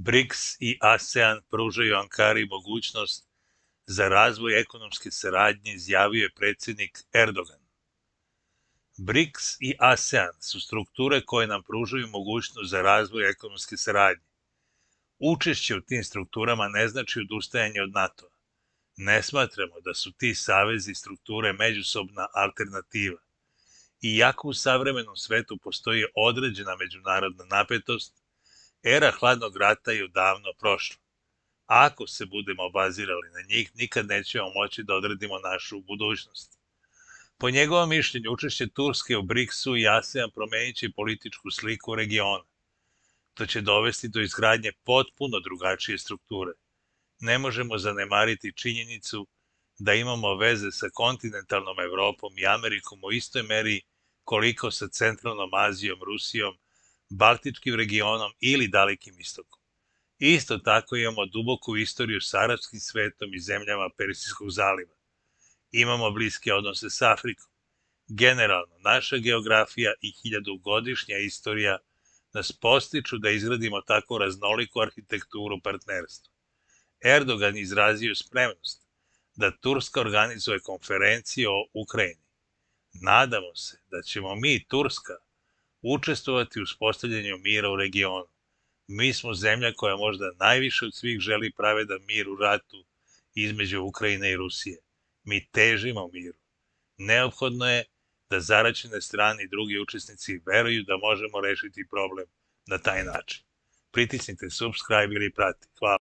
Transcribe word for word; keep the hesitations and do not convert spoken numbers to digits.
BRICS i ASEAN pružaju Ankari mogućnost za razvoj ekonomske saradnje, izjavio je predsjednik Erdogan. BRICS i ASEAN su strukture koje nam pružaju mogućnost za razvoj ekonomske saradnje. Učešće u tim strukturama ne znači odustajanje od NATO-a. Ne smatramo da su ti savezi i strukture međusobna alternativa. Iako u savremenom svetu postoji određena međunarodna napetost, era hladnog rata je odavno prošla. Ako se budemo obazirali na njih, nikad nećemo moći da odredimo našu budućnost. Po njegovom mišljenju, učešće Turske u BRICS-u i ASEAN promenit će političku sliku regiona. To će dovesti do izgradnje potpuno drugačije strukture. Ne možemo zanemariti činjenicu da imamo veze sa kontinentalnom Evropom i Amerikom u istoj meri koliko sa centralnom Azijom, Rusijom, Baltičkim regionom ili Dalekim istokom. Isto tako imamo duboku istoriju s arapskim svetom i zemljama Persijskog zaliva. Imamo bliske odnose s Afrikom. Generalno, naša geografija i hiljadugodišnja istorija nas postiču da izgradimo tako raznoliku arhitekturu partnerstva. Erdogan izrazio spremnost da Turska organizuje konferenciju o Ukrajini. Nadamo se da ćemo mi, Turska, učestvovati u uspostavljanju mira u regionu. Mi smo zemlja koja možda najviše od svih želi pravedan mir u ratu između Ukrajine i Rusije. Mi težimo miru. Neophodno je da zaraćene strane i drugi učesnici veruju da možemo rešiti problem na taj način. Pritisnite subscribe ili prati. Hvala.